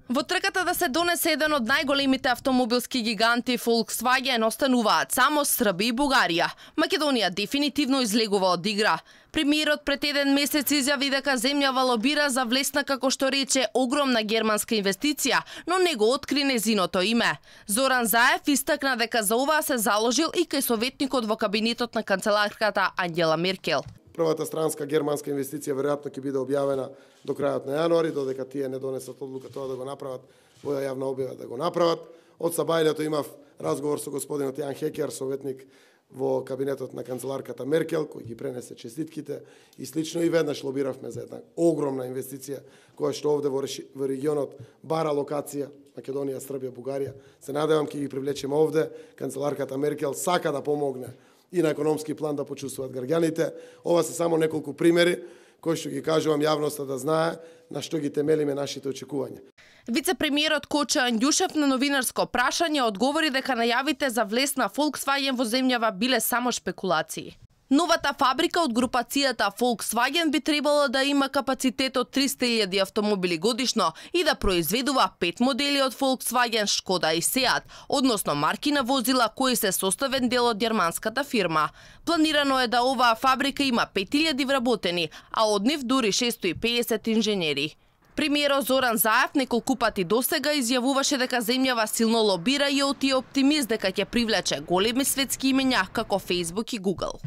Во трката да се донесе еден од најголемите автомобилски гиганти Volkswagen остануваат само Србија и Бугарија. Македонија дефинитивно излегува од игра. Премиерот пред еден месец изјави дека земјава лобира за влесна, како што рече, огромна германска инвестиција, но не го откри незиното име. Зоран Заев истакна дека за оваа се заложил и кај советникот во кабинетот на канцеларката Ангела Меркел. Првата странска германска инвестиција веројатно ќе биде објавена до крајот на јануари, додека тие не донесат одлука тоа да го направат во јавна објава да го направат. Од сабајлето имав разговор со господинот Јан Хекер, советник во кабинетот на канцеларката Меркел, кој ги пренесе честитките и слично, и веднаш лобиравме за една огромна инвестиција која што овде во регионот бара локација, Македонија, Србија, Бугарија. Се надевам ќе ги привлечеме овде. Канцеларката Меркел сака да помогне и на економски план да почувствуваат граѓаните. Ова се само неколку примери кои што ги кажувам јавноста да знае на што ги темелиме нашите очекувања. Вице-премиерот Коча Андјушев на новинарско прашање одговори дека најавите за влез на Volkswagen во земјава биле само шпекулации. Новата фабрика од групацијата Volkswagen би требало да има капацитет од 300.000 автомобили годишно и да произведува 5 модели од Volkswagen, Шкода и Seat, односно марки на возила кои се составен дел од германската фирма. Планирано е да оваа фабрика има 5.000 вработени, а од нив дури 650 инженери. Премиерот Зоран Заев неколку пати досега изјавуваше дека земјава силно лобира и е оптимист дека ќе привлече големи светски имења како Facebook и Google.